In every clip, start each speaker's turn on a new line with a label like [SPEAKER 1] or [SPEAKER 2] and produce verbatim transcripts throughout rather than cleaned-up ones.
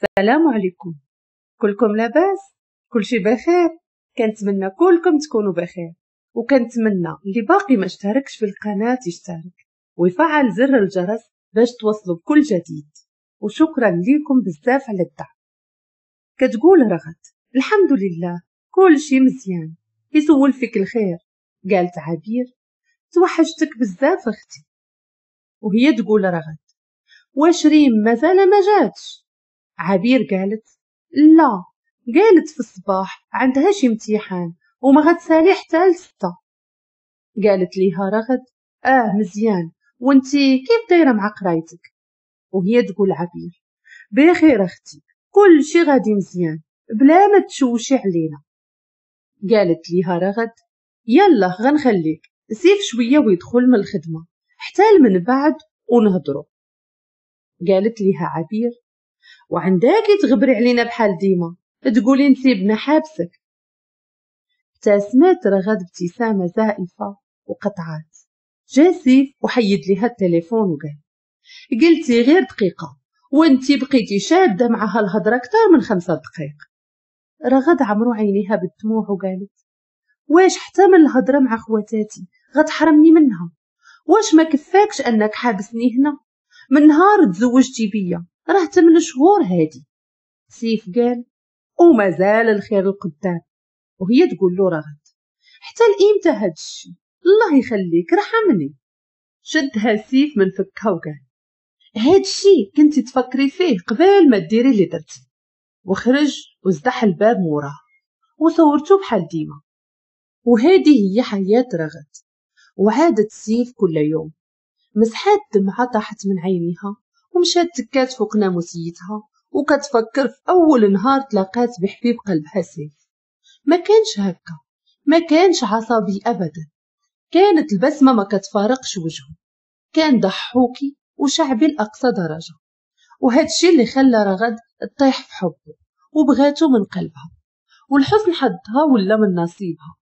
[SPEAKER 1] السلام عليكم، كلكم لاباس؟ كلشي بخير؟ كنتمنى كلكم تكونوا بخير، وكنتمنى اللي باقي ما اشتركش في القناة يشترك ويفعل زر الجرس باش توصلوا بكل جديد، وشكرا لكم بزاف على الدعم. كتقول رغد الحمد لله كل شي مزيان، يسول فيك الخير. قالت عبير توحشتك بزاف اختي. وهي تقول رغد واش ريم مازال ما جاتش؟ عبير قالت لا، قالت في الصباح عندها شي امتحان وما غتسالي حتى لستة. قالت ليها رغد اه مزيان، وانتي كيف دايرة مع قرايتك؟ وهي تقول عبير بخير اختي، كل شي غادي مزيان بلا ما تشوشي علينا. قالت ليها رغد يلا غنخليك، سيف شوية ويدخل من الخدمة حتى من بعد ونهضروا. قالت ليها عبير وعندك تغبري علينا بحال ديما تقولي نسيبنا حابسك. ابتسمت رغد ابتسامة زائفة وقطعات. جا سيف وحيد ليها التليفون وقال قلتي غير دقيقة وانتي بقيتي شاده معها الهضرة اكثر من خمسة دقائق. رغد عمرو عينيها بالدموع وقالت واش حتى من الهضرة مع خواتاتي غتحرمني منها؟ واش ما كفاكش انك حابسني هنا من نهار تزوجتي بيا؟ راه تمن شهور هادي. سيف قال ومازال الخير القدام. وهي تقول له رغد حتى لإمتى هاد الشي؟ الله يخليك رحمني. شدها سيف من فكها وقال هاد الشي كنتي تفكري فيه قبل ما ديري اللي درتي. وخرج وزدح الباب موراه وصورته بحال ديما. وهذه هي حياة رغد. وعادت سيف كل يوم. مسحات دمعة طاحت من عينيها ومشات تكات فوق ناموسيتها وكتفكر في أول نهار تلاقات بحبيب قلبها سيف. ما كانش هكا، ما كانش عصبي أبدا، كانت البسمة ما كتفارقش وجهه، كان ضحوكي وشعبي لأقصى درجة. وهذا الشيء اللي خلى رغد تطيح في حبه وبغاته من قلبها، والحزن حدها ولا من نصيبها.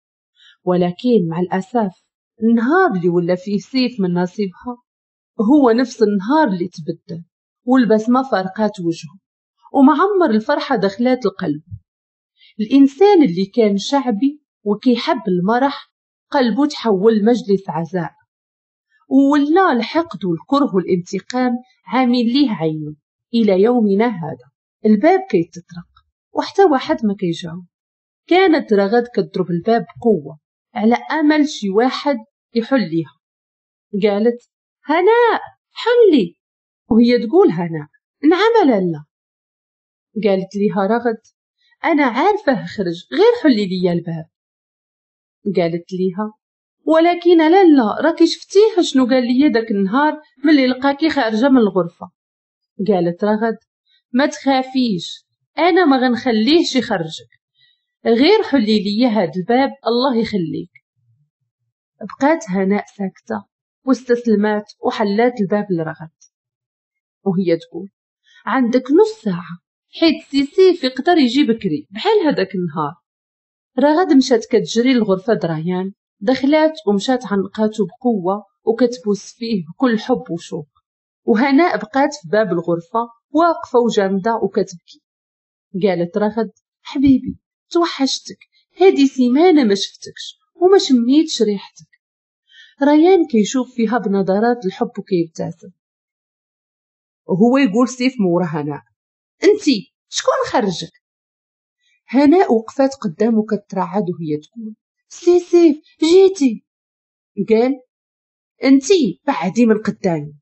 [SPEAKER 1] ولكن مع الأسف النهار اللي ولا فيه سيف من نصيبها هو نفس النهار اللي تبدل والبسمة فارقات وجهه ومعمر الفرحة دخلات القلب. الإنسان اللي كان شعبي وكيحب المرح قلبه تحول مجلس عزاء، ولا الحقد والكره والانتقام عامل ليه عينه إلى يومنا هذا. الباب كيتطرق وحتى واحد ما كيجاوب. كانت رغد كتضرب الباب بقوة على أمل شي واحد يحل ليها. قالت هناء حلي، وهي تقول هناء نعم لالا. قالت ليها رغد أنا عارفة خرج غير حلي ليا الباب. قالت ليها ولكن لالا راكي شفتيه شنو قال لي داك النهار ملي لقاكي خارجة من الغرفة. قالت رغد ما تخافيش أنا ما غنخليهش يخرجك، غير حلي لي هاد الباب الله يخليك. بقات هناء ساكتة واستسلمات وحلات الباب لرغد وهي تقول عندك نص ساعة حيت سي سيف يقدر يجي بكري بحال هداك النهار. رغد مشات كتجري لغرفة ريان، دخلات ومشات عنقاتو بقوة وكتبوس فيه بكل حب وشوق. وهناء بقات في باب الغرفة واقفة وجامدة وكتبكي. قالت رغد حبيبي توحشتك، هادي سيمانة ما شفتكش وما شميتش ريحتك. ريان كيشوف فيها بنظرات الحب وكيبتسم وهو يقول سيف مورا هناء انتي شكون خرجك؟ هناء وقفات قدامه كترعد وهي تقول سي سيف جيتي. قال انتي بعدي من قدامي.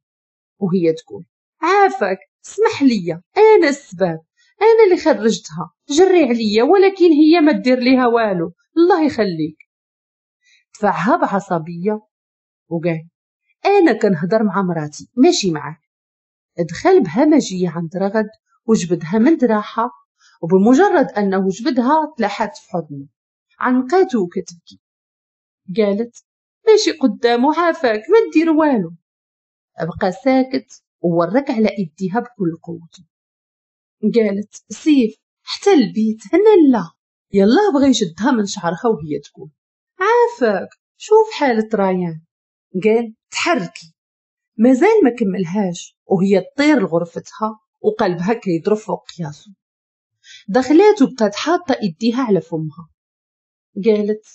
[SPEAKER 1] وهي تقول عافاك اسمح لي انا السبب، انا اللي خرجتها، جري عليا ولكن هي ما دير ليها والو الله يخليك. دفعها بعصبيه وقال انا كنهضر مع مراتي ماشي معاك. دخل بهمجيه عند رغد وجبدها من دراحه، وبمجرد انه جبدها تلاحت في حضنه عنقاته وكتبكي. قالت ماشي قدامه عافاك ما دير والو. بقى ساكت وورك على ايديها بكل قوته. قالت سيف حتى البيت هنا لا. يلا بغى يشدها من شعرها وهي تقول عافاك شوف حالة ريان. قال تحركي. مازال ما كملهاش وهي تطير لغرفتها وقلبها كيضرب فوق قياسو. دخلات وبقات حاطه ايديها على فمها، قالت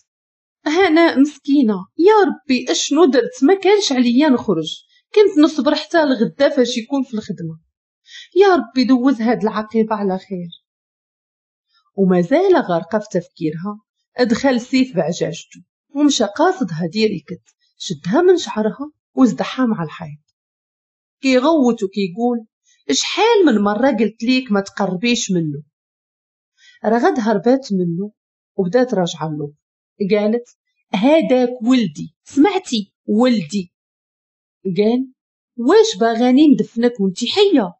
[SPEAKER 1] هناء مسكينه يا ربي اشنو درت، ما كانش عليا نخرج، كنت نصبر حتى الغدا فاش يكون في الخدمة، يا ربي دوز هاد العقيبه على خير. ومازال غارقة في تفكيرها ادخل سيف بعجاجته ومشى قاصدها direct، شدها من شعرها وزدحها مع الحيط، كيغوت وكيقول شحال من مرة قلت ليك ما تقربيش منه. رغد هربات منه وبدات راجعه له، قالت هذاك ولدي، سمعتي ولدي. قال واش باغاني ندفنك وانتي حيه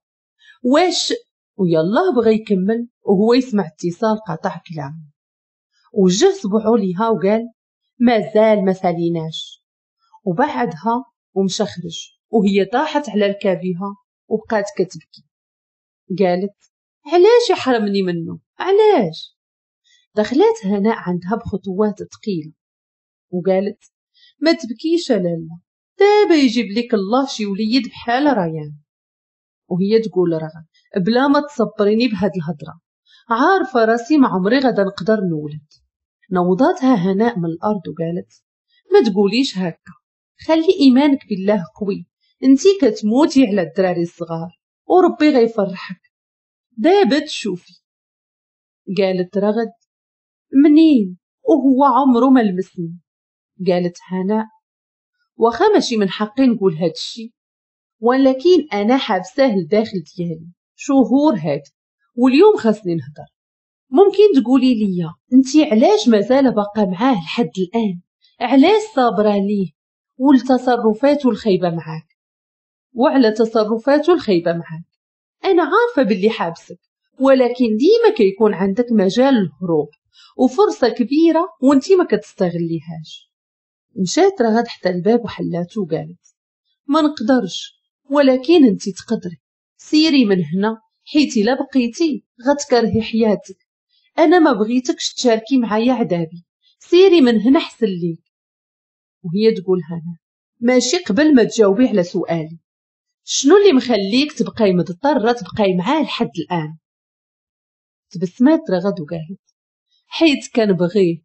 [SPEAKER 1] واش؟ ويالله بغى يكمل وهو يسمع اتصال قطع كلامه، وجه صبعو ليها وقال مازال ما ساليناش، وبعدها ومشى خرج، وهي طاحت على ركابها وبقات كتبكي. قالت علاش يحرمني منه علاش؟ دخلات هناء عندها بخطوات ثقيلة وقالت ما تبكيش لالا، دابا يجيب لك الله شي وليد بحال ريان. وهي تقول رغد بلا ما تصبريني بهاد الهضرة، عارفه راسي ما عمري غدا نقدر نولد. نوضاتها هناء من الارض وقالت ما تقوليش هكا، خلي ايمانك بالله قوي، انتي كتموتي على الدراري الصغار وربي غيفرحك، دابا تشوفي. قالت رغد منين وهو عمره ما لمسني؟ قالت هناء واخا ماشي من حقي نقول هاد الشي، ولكن انا حابساه لداخل ديالي شهور هاد، واليوم خاصني نهضر. ممكن تقولي لي انتي علاش مازال باقا معاه لحد الان؟ علاش صابره ليه ولتصرفاته الخايبة معاك وعلى تصرفاته الخايبة معاك؟ انا عارفه باللي حابسك، ولكن ديما كيكون عندك مجال للهروب وفرصه كبيرة وانتي ما كتستغليهاش. مشات رغد حتى الباب وحلاته وقالت ما نقدرش، ولكن انتي تقدري، سيري من هنا حيت الا بقيتي غتكرهي حياتك، انا ما بغيتكش تشاركي معايا عذابي، سيري من هنا حسن ليك. وهي تقول هنا ماشي قبل ما تجاوبي على سؤالي، شنو اللي مخليك تبقاي مضطرة تبقاي معاه لحد الان؟ تبسمات رغد وقالت حيت كنبغيه،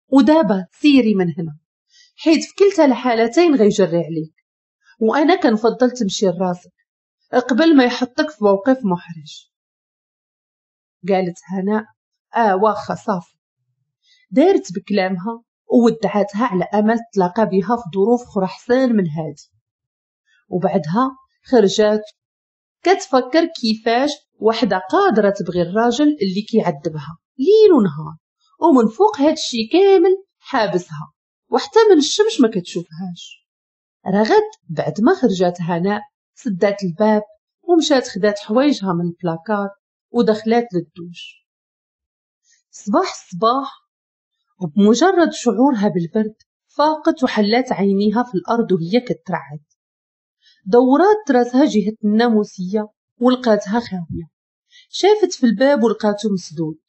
[SPEAKER 1] ودابا سيري من هنا حيت في كلتا الحالتين غيجري عليك، وانا كنفضل تمشي لراسك قبل ما يحطك في موقف محرج. قالت هناء اه واخا صافي. دارت بكلامها وودعتها على امل تلاقى بها في ظروف اخرى احسن من هادي. وبعدها خرجات كتفكر كيفاش وحده قادرة تبغي الراجل اللي كيعذبها ليل ونهار، ومن فوق هادشي كامل حابسها وحتى من الشمس ما كتشوفهاش. رغد بعد ما خرجات هناء سدات الباب ومشات خدات حوايجها من البلاكار ودخلات للدوش. صباح الصباح وبمجرد شعورها بالبرد فاقت وحلات عينيها في الأرض وهي كترعد. دورات راسها جهة الناموسية ولقاتها خاوية. شافت في الباب ولقاته مسدود.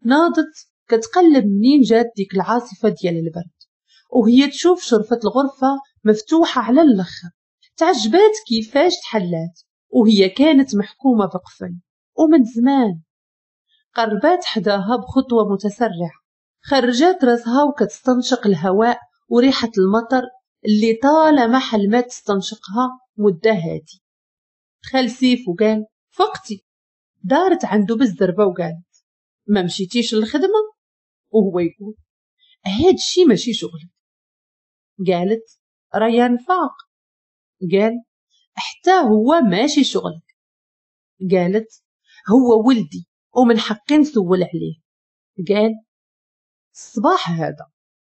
[SPEAKER 1] ناضت كتقلب منين جات ديك العاصفة ديال البرد، وهي تشوف شرفة الغرفة مفتوحة على الأخر. تعجبات كيفاش تحلات وهي كانت محكومة بقفل ومن زمان. قربات حداها بخطوة متسرعة، خرجات راسها وكتستنشق الهواء وريحة المطر اللي طالما حلمات تستنشقها مدة هادي. دخل سيف وقال فقتي. دارت عنده بالزربة وقالت ما مشيتيش للخدمة؟ وهو يقول هاد الشي ماشي شغلك. قالت ريان فاق. قال حتى هو ماشي شغلك. قالت هو ولدي ومن حقي نسول عليه. قال الصباح هذا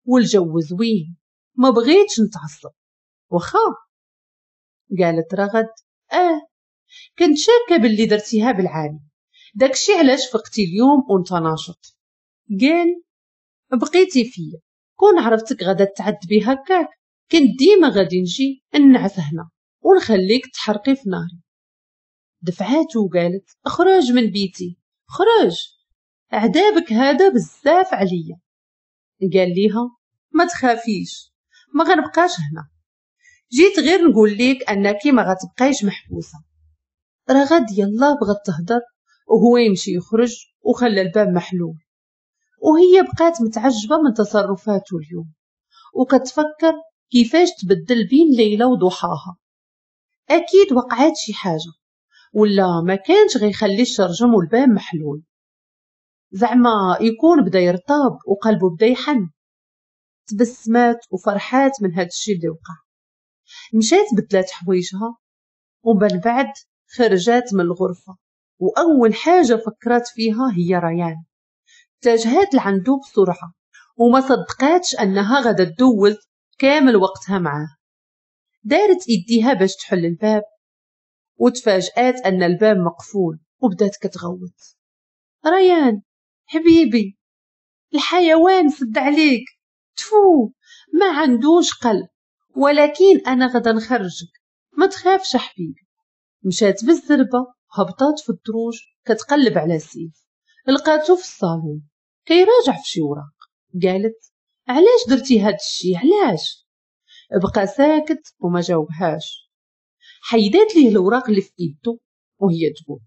[SPEAKER 1] والجو زوين ما بغيتش نتعصب وخا. قالت رغد اه كنت شاكه باللي درتيها بالعاني، داكشي علاش فقتي اليوم وانت ناشط. قال بقيتي فيا، كون عرفتك غادا تعذبي هكاك كنت ديما غادي نجي نعس هنا ونخليك تحرقي في ناري. دفعاتو وقالت اخرج من بيتي خرج، عذابك هذا بزاف عليا. قال ليها ما تخافيش ما غنبقاش هنا، جيت غير نقول لك انك ما غتبقايش محبوسة. رغد يلا بغات تهضر وهو يمشي يخرج وخلى الباب محلول، وهي بقات متعجبة من تصرفاته اليوم وكتفكر كيفاش تبدل بين ليلى وضحاها. أكيد وقعات شي حاجة ولا ما كانش غيخلي الشرجم والباب محلول، زعما يكون بدا يرطاب وقلبه بدا يحن. تبسمات وفرحات من هاد الشي اللي وقع. مشات بدلات حوايجها ومن بعد خرجات من الغرفة، وأول حاجة فكرت فيها هي ريان. اتجهت لعندو بسرعة وما صدقاتش أنها غادا تدوز كامل وقتها معاه. دارت إيديها باش تحل الباب وتفاجآت أن الباب مقفول، وبدات كتغوت: ريان حبيبي، الحيوان سد عليك، تفو ما عندوش قلب، ولكن أنا غدا نخرجك، ما تخافش حبيبي. مشات بالزربة هبطات في الدروج كتقلب على سيف، لقاتو في الصالون كيراجع في شي وراق. قالت: علاش درتي هاد الشي علاش؟ بقى ساكت وما جاوبهاش. حيدات ليه الوراق اللي في ايدو وهي تقول: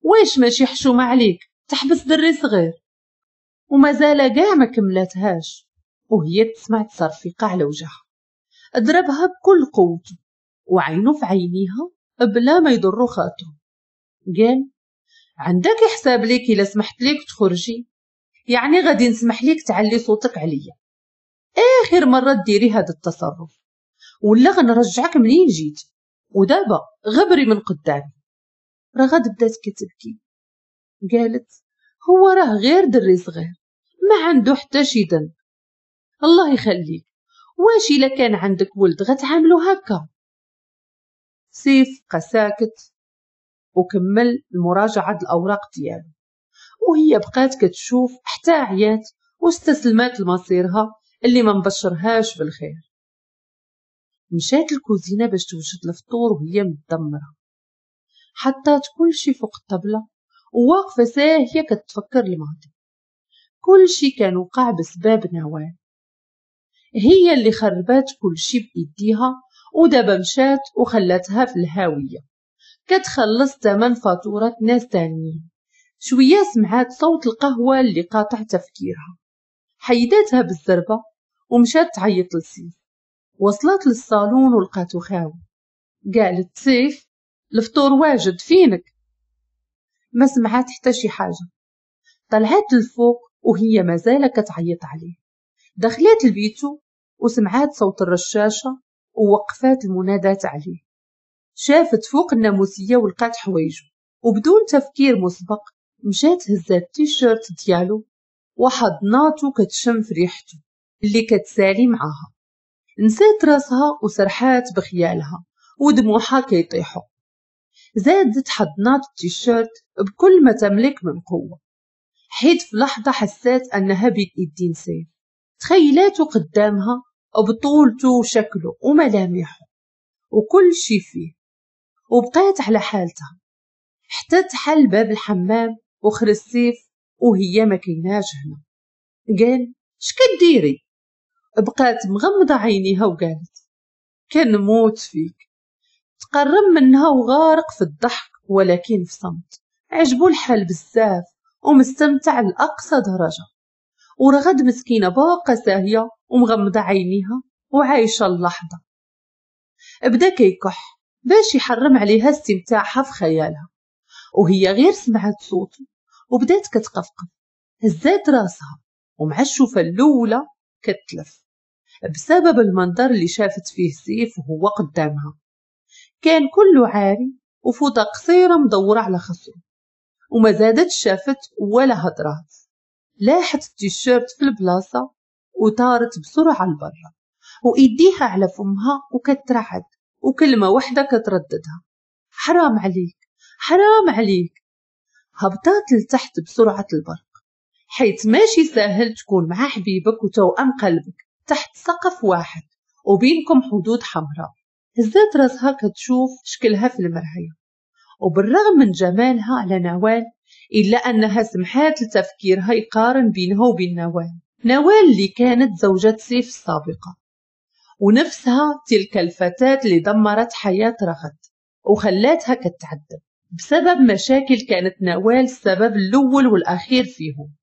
[SPEAKER 1] واش ماشي حشومه عليك تحبس دري صغير؟ وما زال كاع ما كملاتهاش وهي تسمع تصرفيقه على وجهها. ضربها بكل قوته وعينه في عينيها بلا ما يضرو خاطره. قال: عندك حساب ليك الا سمحت ليك تخرجي، يعني غادي نسمح ليك تعلي صوتك عليا اخر مرة ديري هذا التصرف، ولا غنرجعك منين جيت، ودابا غبري من قدامي. رغد بدات كتبكي، قالت: هو راه غير دري صغير ما عنده حتى شي ذنب، الله يخليك، واش الا كان عندك ولد غتعاملو هكا؟ سيف بقى ساكت وكمل المراجعة الاوراق ديالو، وهي بقات كتشوف حتى عيات واستسلمات لمصيرها اللي ما مبشرهاش بالخير. مشات الكوزينة باش توجد الفطور وهي متدمره، حطات كل شي فوق الطبلة وواقفه ساهيه كتفكر الماضي. كل شي كان وقع بسبب نوال، هي اللي خربات كل شي بايديها، ودابا مشات وخلاتها في الهاوية كتخلص ثمن فاتورة ناس تانيين. شوية سمعات صوت القهوة اللي قاطع تفكيرها، حيداتها بالزربه ومشات تعيط لسيف. وصلت للصالون ولقاتو خاوي. قالت: سيف الفطور واجد، فينك؟ ما سمعات حتى شي حاجة. طلعت للفوق وهي مازال كتعيط عليه. دخلت لبيتو وسمعات صوت الرشاشه ووقفات المنادات عليه. شافت فوق الناموسيه ولقات حوايجو، وبدون تفكير مسبق مشات هزات التيشيرت ديالو وحضناتو كتشم في ريحته اللي كتسالي معاها. نسات راسها وسرحات بخيالها ودموعها كيطيحوا. زادت حضنات التيشيرت بكل ما تملك من قوة، حيت في لحظة حسات أنها بين إيدين سيف. تخيلاته قدامها بطولته وشكله وملامحه وكل شي فيه، وبقات على حالتها حتى تحل باب الحمام وخرج سيف وهي ما كيناش هنا. قال: اش كديري؟ بقات مغمضة عينيها وقالت: كنموت فيك. تقرب منها وغارق في الضحك ولكن في صمت. عجبو الحال بزاف ومستمتع لأقصى درجة. ورغد مسكينة باقة ساهية ومغمضة عينيها وعايشة اللحظة. بدا كيكح باش يحرم عليها استمتاعها في خيالها، وهي غير سمعت صوته وبدات كتقفقف. هزات راسها ومع الشوفة الأولى كتلف بسبب المنظر اللي شافت فيه سيف وهو قدامها. كان كله عاري وفوطة قصيرة مدورة على خصره، وما زادت شافت ولا هضرات. لاحت التيشيرت في البلاصة وطارت بسرعة لبرا، وإيديها على فمها وكترعد، وكلمة واحدة كترددها: حرام عليك، حرام عليك. هبطات لتحت بسرعة البرق، حيث ماشي ساهل تكون مع حبيبك وتوأم قلبك تحت سقف واحد وبينكم حدود حمراء. هزات راسها كتشوف شكلها في المراية، وبالرغم من جمالها على نوال إلا أنها سمحات لتفكيرها يقارن بينها وبين نوال. نوال اللي كانت زوجة سيف السابقة، ونفسها تلك الفتاة اللي دمرت حياة رغد وخلاتها كتعذب. بسبب مشاكل كانت نوال السبب الأول والأخير فيهم،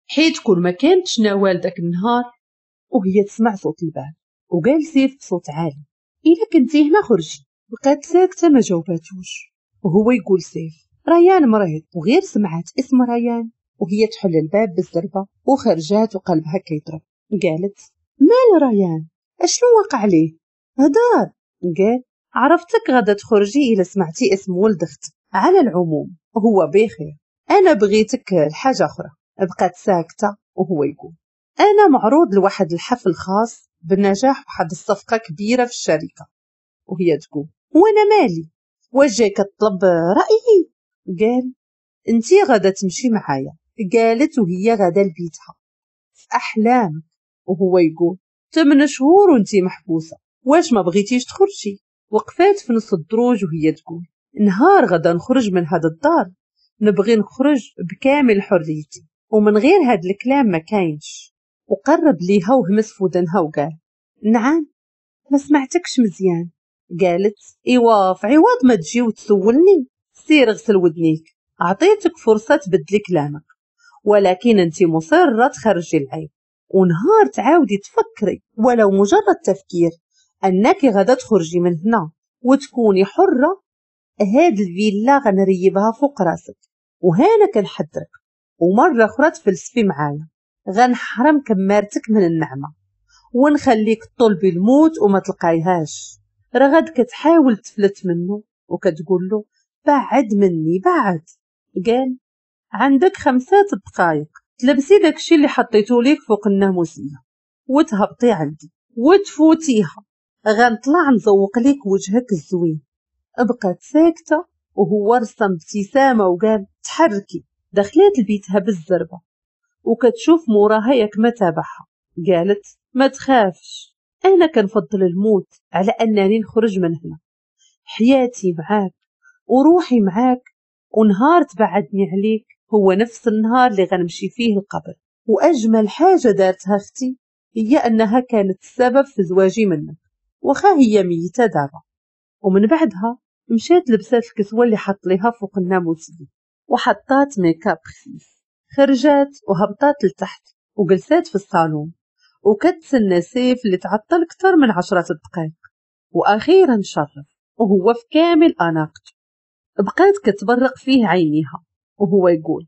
[SPEAKER 1] حيت كل ما كانتش نوال داك النهار. وهي تسمع صوت الباب وقال سيف بصوت عالي إلا كنتي هنا خرجي. بقات ساكتة ما جاوباتوش، وهو يقول سيف ريان مريض. وغير سمعت اسم ريان وهي تحل الباب بالزربة وخرجات وقلبها كيضرب. قالت مال ريان؟ اشنو وقع ليه؟ هدار. قال عرفتك غدا تخرجي إلا سمعتي اسم ولد اختك، على العموم هو بخير، أنا بغيتك لحاجة أخرى. بقات ساكتة وهو يقول أنا معروض لواحد الحفل خاص بالنجاح واحد الصفقة كبيرة في الشركة. وهي تقول وأنا مالي؟ واش جاي كتطلب رأيي؟ قال انتي غدا تمشي معايا. قالت وهي غدا لبيتها في أحلامك. وهو يقول ثمان شهور وانتي محبوسة، واش ما بغيتيش تخرجي؟ وقفات في نص الدروج وهي تقول نهار غدا نخرج من هذا الدار نبغي نخرج بكامل حريتي، ومن غير هاد الكلام ما كاينش. وقرب ليها وهمس في ودنها وقال نعم ما سمعتكش مزيان. قالت ايوا في عوض ما تجي وتسولني سير غسل ودنيك، عطيتك فرصة تبدلي كلامك، ولكن انت مصرة تخرجي العيب، ونهار تعاودي تفكري ولو مجرد تفكير انك غدا تخرجي من هنا وتكوني حرة، هاد الفيلا غنريبها فوق راسك، وهانا كنحذرك، ومرة أخرى تفلسفي معايا غنحرم كمارتك من النعمة ونخليك تطلبي الموت وما تلقايهاش. رغد كتحاول تفلت منه وكتقول له بعد مني بعد. قال عندك خمسة دقائق تلبسي داكشي اللي حطيته ليك فوق الناموسية وتهبطي عندي وتفوتيها، غنطلع نزوق ليك وجهك الزوين. بقات ساكتة وهو رسم ابتسامة وقال تحركي. دخلت لبيتها بالزربة وكتشوف موراها ياك ما تابعها. قالت ما تخافش، أنا كنفضل الموت على أنني نخرج من هنا، حياتي معاك وروحي معاك، ونهار تبعدني عليك هو نفس النهار اللي غنمشي فيه القبر. وأجمل حاجة دارتها أختي هي أنها كانت السبب في زواجي منك، وخا هي ميتة دابا. ومن بعدها مشات لبسات الكسوة اللي حط ليها فوق الناموسية وحطات ميكاب خفيف، خرجات وهبطات لتحت وجلسات في الصالون وكتسنى سيف اللي تعطل اكثر من عشرة دقائق. واخيرا شرف وهو في كامل اناقته. بقات كتبرق فيه عينيها وهو يقول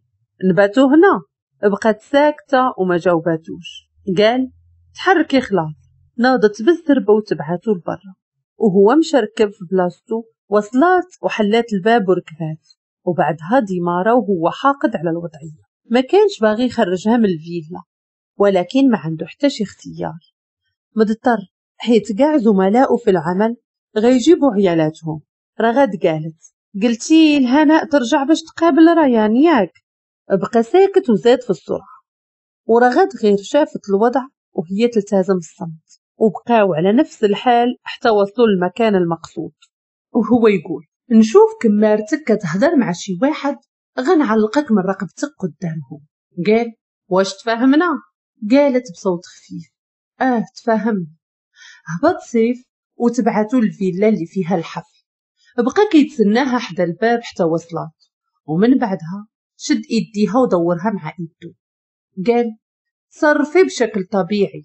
[SPEAKER 1] نباتو هنا. بقات ساكته وما جاوباتوش. قال تحركي خلاص. ناضت بالزربه وتبعاتو لبرا وهو مشى ركب في بلاصتو. وصلات وحلات الباب وركبات، وبعدها ديمارة وهو حاقد على الوضعية، ما كانش باغي يخرجها من الفيلا، ولكن ما عنده حتى شي اختيار، مضطر حيت كاع زملائه في العمل غيجيبوا عيالاتهم. رغد قالت قلتي الهناء ترجع باش تقابل ريان ياك؟ بقى ساكت وزاد في السرعة، ورغد غير شافت الوضع وهي تلتزم الصمت، وبقاو على نفس الحال حتى وصلوا للمكان المقصود. وهو يقول نشوف كمارتك كتهضر مع شي واحد غنعلقك من رقبتك قدامهم. قال واش تفاهمنا؟ قالت بصوت خفيف اه تفاهمنا. هبط سيف وتبعتو الفيلا اللي فيها الحفل. بقى كيتسناها حدا الباب حتى وصلات، ومن بعدها شد ايديها ودورها مع ايدو. قال صرفي بشكل طبيعي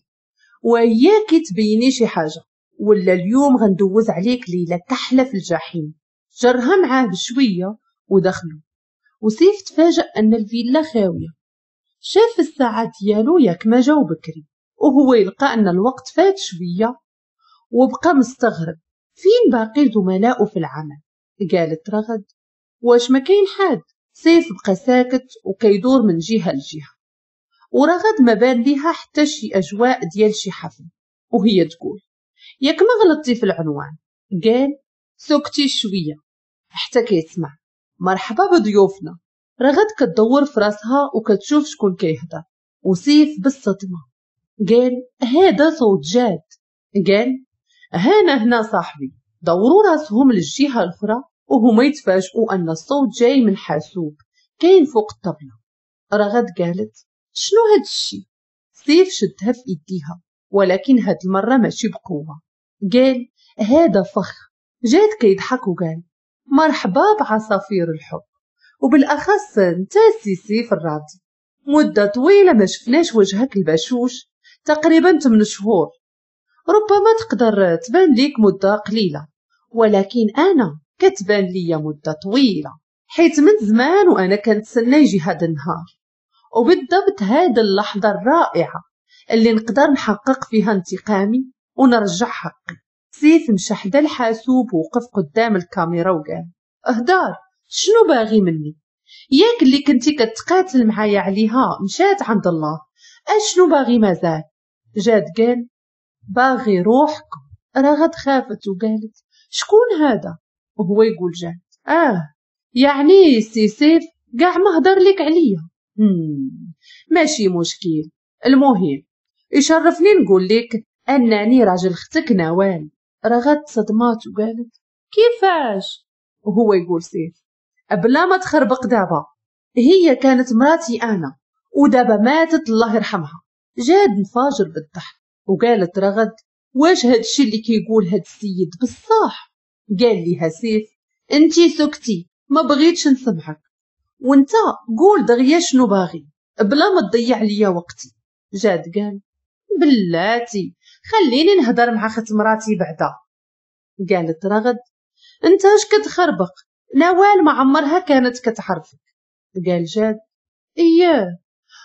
[SPEAKER 1] وياكي تبيني شي حاجة، ولا اليوم غندوز عليك ليلة كحلة في الجحيم. جرها معاه بشوية ودخلوا، وسيف تفاجأ أن الفيلا خاوية. شاف الساعة ديالو ياك ما جاو بكري، وهو يلقى أن الوقت فات شوية، وبقى مستغرب فين باقي زملائه في العمل. قالت رغد واش ما كاين حد؟ سيف بقى ساكت وكيدور من جهة لجهة، ورغد ما بان ليها حتى شي أجواء ديال شي حفل. وهي تقول ياك ما غلطتي في العنوان؟ قال سكتي شوية حتى كيسمع مرحبا بضيوفنا. رغد كتدور في راسها وكتشوف شكون كيهضر، وسيف بالصدمة قال هذا صوت جاد. قال هانا هنا صاحبي. دوروا راسهم للجهة الأخرى وهما يتفاجئوا أن الصوت جاي من حاسوب كاين فوق الطبلة. رغد قالت شنو هاد الشي؟ سيف شدها في ايديها ولكن هاد المرة ماشي بقوة. قال هذا فخ. جاد كيضحك وقال مرحبا بعصافير الحب، وبالاخص انت سي سيف الراضي. مده طويلة ما شفناش وجهك البشوش، تقريبا ثمان شهور. ربما تقدر تبان ليك مده قليله، ولكن انا كتبان ليا مده طويلة، حيت من زمان وانا كنتسنى يجي هذا النهار، وبالضبط هذه اللحظة الرائعة اللي نقدر نحقق فيها انتقامي ونرجع حقي. سيف مشى حدا الحاسوب ووقف قدام الكاميرا وقال: اهدار، شنو باغي مني؟ ياك اللي كنتي كتقاتل معايا عليها مشات عند الله، اشنو باغي مازال؟ جاد قال: باغي روحكم. رغد خافت وقالت: شكون هذا؟ وهو يقول جاد: اه يعني سي سيف كاع ما هدر لك عليا. ماشي مشكل، المهم يشرفني نقول لك انني راجل اختك نوال. رغد صدمات وقالت: كيفاش؟ وهو يقول سيف: بلا ما تخربق دابا، هي كانت مراتي انا ودابا ماتت الله يرحمها. جاد انفجر بالضحك وقالت رغد: واش هادشي اللي كيقول هاد السيد بصح؟ قال ليها سيف: انتي سكتي، ما بغيتش نسمعك، وانت قول دغيا شنو باغي بلا ما تضيع ليا وقتي. جاد قال: بلاتي خليني نهضر مع خت مراتي بعدا. قالت رغد: انت اش كتخربق؟ نوال ما عمرها كانت كتعرفك. قال جاد: اياه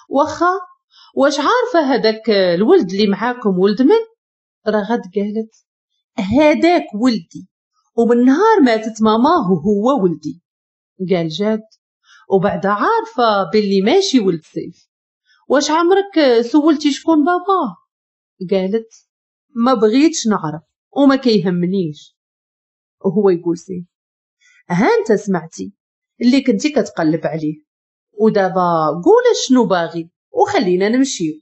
[SPEAKER 1] واخا، واش عارفه هذاك الولد اللي معاكم ولد من؟ رغد قالت: هذاك ولدي، ومن نهار ماتت ماماه هو ولدي. قال جاد: وبعد عارفه باللي ماشي ولد سيف، واش عمرك سولتي شكون باباه؟ قالت: ما بغيتش نعرف وما كيهمنيش. وهو يقول سيف: ها انت سمعتي اللي كنتي كتقلب عليه، ودابا قول شنو باغي وخلينا نمشيو.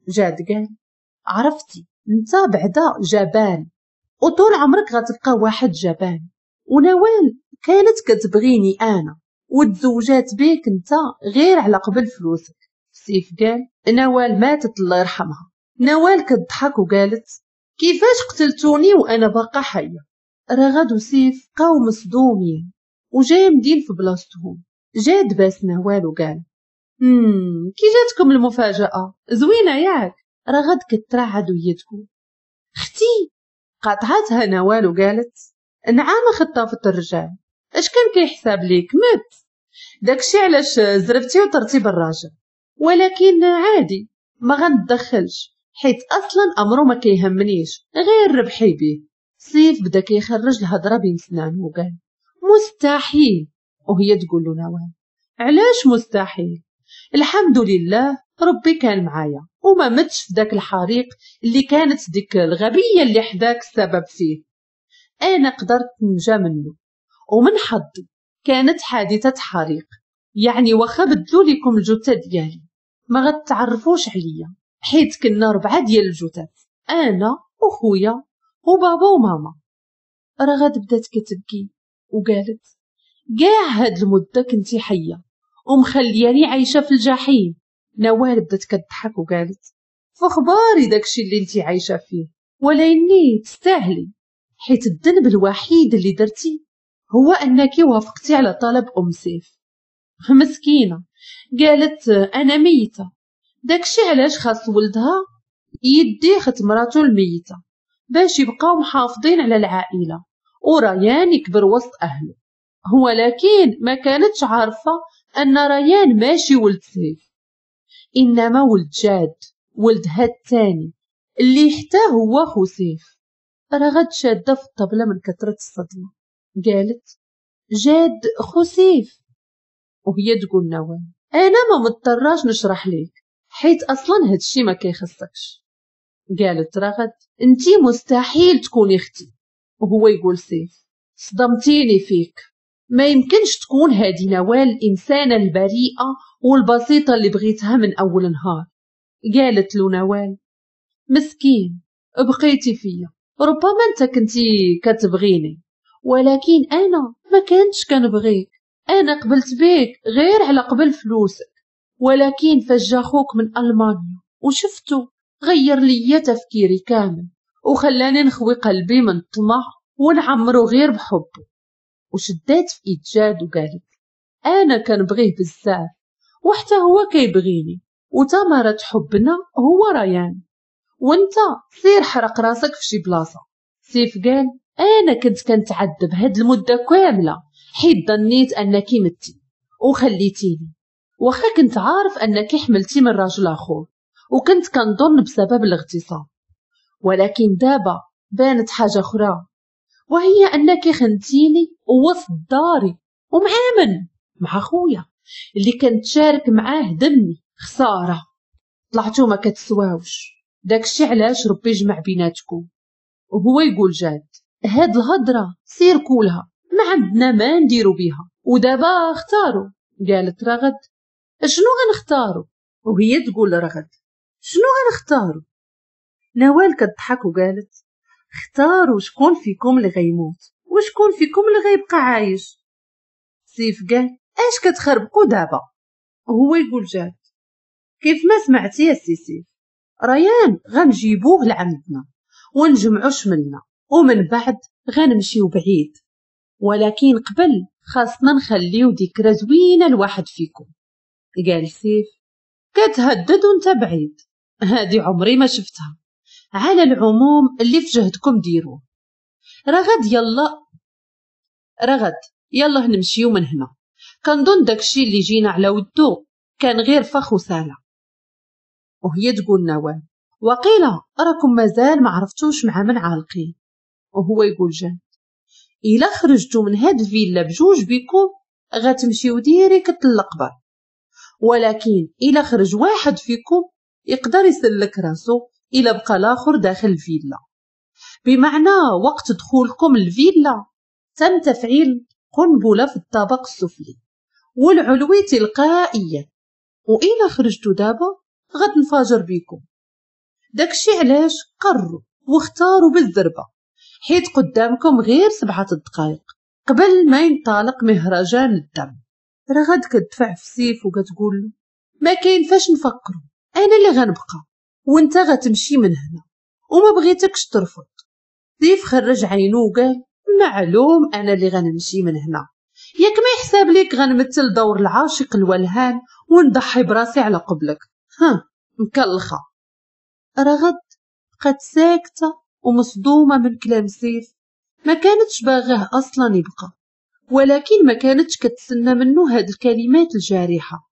[SPEAKER 1] جاد قال: عرفتي انت بعدا جبان، وطول عمرك غتبقى واحد جبان، ونوال كانت كتبغيني انا وتزوجات بيك انت غير على قبل فلوسك. سيف قال: نوال ماتت الله يرحمها. نوال كتضحك وقالت: كيفاش قتلتوني وانا باقا حيه؟ رغد وسيف بقاو مصدومين وجامدين في بلاصتهم. جاد باس نوال وقال: امم كي جاتكم المفاجاة؟ زوينة ياك؟ رغد كترعد وهي تقول: اختي. قاطعتها نوال وقالت: نعم خطافه الرجال، اش كان كيحساب ليك مت؟ داكشي علاش زربتي وطرتي بالراجل، ولكن عادي ما غندخلش حيت اصلا امره ما كيهمنيش غير ربحي بيه. سيف بدا كيخرج الهضرة بين سنانه وقال: مستحيل. وهي تقول له نوال: علاش مستحيل؟ الحمد لله ربي كان معايا وما متش في داك الحريق اللي كانت ديك الغبية اللي حداك السبب فيه، انا قدرت نجا منه، ومن حظي كانت حادثه حريق، يعني واخا بدلوا لكم الجثة ديالي ما غتعرفوش عليا، حيت كنا ربعه ديال الجثث، انا وخويا وبابا وماما. رغد بدات كتبكي وقالت: كاع هاد المدة كنتي حيه ومخلياني عايشه في الجحيم. نوال بدات كتضحك وقالت: فخباري داكشي اللي انتي عايشه فيه، ولكني تستاهلي، حيت الذنب الوحيد اللي درتي هو انك وافقتي على طلب ام سيف. مسكينه قالت: انا ميته، داكشي علاش خاص ولدها يدي خت مراتو الميتة باش يبقاو محافظين على العائلة وريان يكبر وسط اهله. ولكن ما كانتش عارفه ان ريان ماشي ولد سيف، انما ولد جاد، ولدها الثاني اللي حتى هو خو سيف. رغد شاده في الطبلة من كثرة الصدمة، قالت: جاد خو سيف. وهي تقول نوال: انا ما مضطراش نشرح ليك حيت اصلا هادشي ما كيخصكش. قالت رغد: انتي مستحيل تكوني اختي. وهو يقول سيف: صدمتيني فيك، ما يمكنش تكون هادي نوال الانسانة البريئة والبسيطه اللي بغيتها من اول نهار. قالت له نوال: مسكين بقيتي فيا، ربما انت كنتي كتبغيني ولكن انا ما كنتش كنبغيك، انا قبلت بيك غير على قبل فلوسك، ولكن فاش جا خوك من المانيا وشفتو غير ليا تفكيري كامل وخلاني نخوي قلبي من الطمع ونعمرو غير بحبه. وشدات في ايد جاد وقالت انا كنبغيه بزاف وحتى هو كيبغيني، وثمرة حبنا هو ريان، وانت سير حرق راسك في شي بلاصة. سيف قال انا كنت كنتعذب هاد المدة كاملة حيت ظنيت انك متي وخليتيني، واخا كنت عارف انك حملتي من راجل اخر وكنت كنظن بسبب الاغتصاب، ولكن دابا بانت حاجة اخرى، وهي انك خنتيني ووسط داري ومع من؟ مع خويا اللي كنتشارك معاه دمي. خسارة طلعتو ما كتسواوش، داكشي علاش ربي جمع بيناتكم. وهو يقول جاد هاد الهضرة سير كولها، ما عندنا ما نديرو بيها، ودابا اختاروا. قالت رغد شنو غنختاروا؟ وهي تقول رغد شنو غنختاروا؟ نوال كتضحك وقالت اختاروا شكون فيكم اللي غيموت وشكون فيكم اللي غيبقى عايش. سيف قال اش كتخربقوا دابا؟ وهو يقول جاد كيف ما سمعتي يا سي سيف، ريان غنجيبوه لعندنا ونجمعو شملنا ومن بعد غنمشيو بعيد، ولكن قبل خاصنا نخليو ذكرى زوينة لواحد فيكم. قال سيف كتهدد وانت بعيد، هادي عمري ما شفتها، على العموم اللي في جهدكم ديروه. رغد يلا رغد يلا نمشيو من هنا، كنظن داكشي اللي جينا على ودو كان غير فخ وسالة. وهي تقول نوال وقيله راكم مازال ما عرفتوش مع من عالقين. وهو يقول جاد الا خرجتو من هاد الفيلا بجوج بيكم غتمشيو direct للقبر، ولكن الا خرج واحد فيكم يقدر يسلك راسو الا بقى الاخر داخل الفيلا، بمعنى وقت دخولكم الفيلا تم تفعيل قنبلة في الطابق السفلي والعلوي تلقائيا، والا خرجتو دابا غتنفجر بيكم. داكشي علاش قرروا واختاروا بالزربه، حيت قدامكم غير سبعة الدقائق قبل ما ينطلق مهرجان الدم. رغد كتدفع في سيف وكتقول له ما كاين فاش نفكروا، انا اللي غنبقى وانت غتمشي من هنا وما بغيتكش ترفض. سيف خرج عينو وقال معلوم انا اللي غنمشي من هنا، ياك ما يحساب ليك غنمثل دور العاشق الولهان ونضحي براسي على قبلك، ها مكلخه. رغد بقات ساكته ومصدومه من كلام سيف، ما كانتش باغاه اصلا يبقى، ولكن ما كانتش كتسنى منه هاد الكلمات الجارحه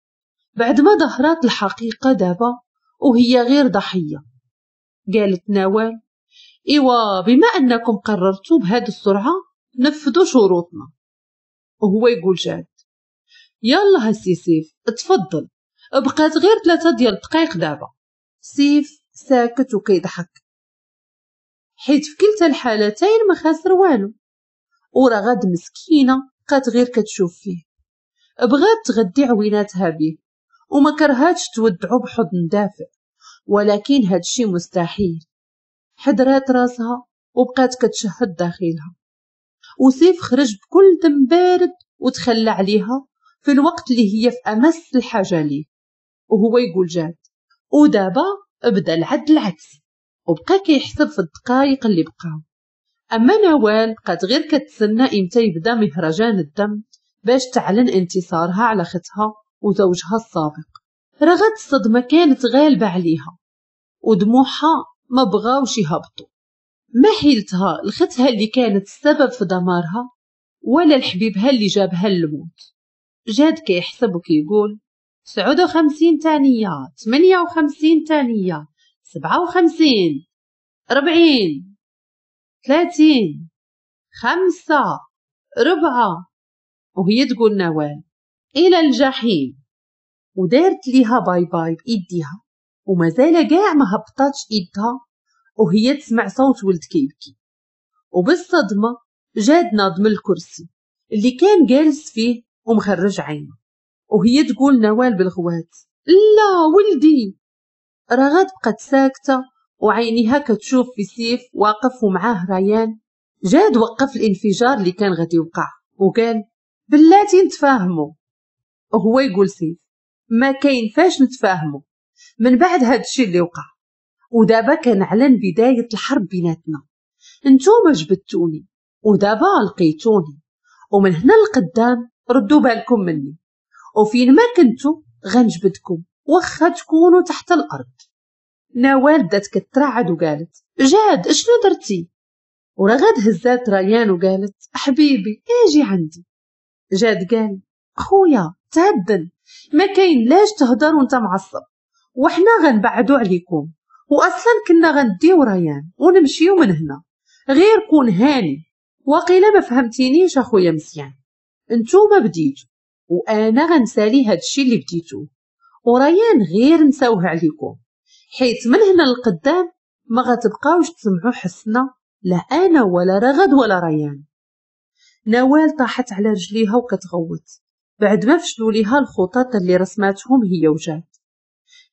[SPEAKER 1] بعد ما ظهرت الحقيقة دابا وهي غير ضحية. قالت نوال ايوا بما انكم قررتوا بهاد السرعة نفذوا شروطنا. وهو يقول جاد يلا هسي سيف تفضل، بقات غير ثلاثة ديال الدقائق دابا. سيف ساكت وكيضحك حيت في كلتا الحالتين ما خاسر والو، ورغد مسكينه بقات غير كتشوف فيه، بغات تغدي عويناتها بيه وما كرهاتش تودعو بحضن دافئ، ولكن هادشي مستحيل. حدرات راسها وبقات كتشهد داخلها، وسيف خرج بكل دم بارد وتخلى عليها في الوقت اللي هي في امس الحاجة ليه. وهو يقول جاد ودابا بدا العد العكسي، وبقى كيحسب في الدقائق اللي بقاو. اما نوال بقات غير كتسنى امتى يبدا مهرجان الدم باش تعلن انتصارها على ختها وزوجها السابق. رغد الصدمة كانت غالبه عليها ودموعها ما بغاوش يهبطوا، ما حيلتها لختها اللي كانت السبب في دمارها ولا لحبيبها اللي جابها للموت. جاد كيحسب وكيقول تسعة وخمسين ثانية، ثمانية وخمسين ثانية، سبعة وخمسين، أربعين، ثلاثين، خمسة، ربعة. وهي تقول نوال إلى الجحيم، ودارت ليها bye bye بإيديها ومازال كاع ما هبطاتش إيدها وهي تسمع صوت ولد كيبكي. وبالصدمة جاد ناض من الكرسي اللي كان جالس فيه ومخرج عينه، وهي تقول نوال بالغوات لا ولدي. رغد بقت ساكتة وعينيها كتشوف في سيف واقف ومعاه ريان. جاد وقف الانفجار اللي كان غادي يوقع وقال بلاتي نتفاهموا. وهو يقول سيف ما كاين فاش نتفاهموا من بعد هاد الشيء اللي وقع، ودابا كنعلن بداية الحرب بيناتنا، نتوما جبدتوني ودابا لقيتوني، ومن هنا لقدام ردوا بالكم مني، وفين ما كنتو غنجبدكم واخا تكونوا تحت الارض. نوال بدات كترعد وقالت جاد شنو درتي؟ ورغد هزات ريان وقالت حبيبي اجي عندي. جاد قال خويا تهدن، ما كاين لاش تهدر وانت معصب، وحنا غنبعدو عليكم، واصلا كنا غنديو ريان ونمشيو من هنا، غير كون هاني. وقيله ما فهمتينيش اخويا مزيان، انتوما بديتو وانا غنسالي هادشي اللي بديتوه، وريان غير نساوه عليكم، حيت من هنا للقدام ما غتبقاوش تسمعوا حسنا لا انا ولا رغد ولا ريان. نوال طاحت على رجليها وكتغوت بعد ما فشلوا ليها الخطط اللي رسماتهم هي وجاد.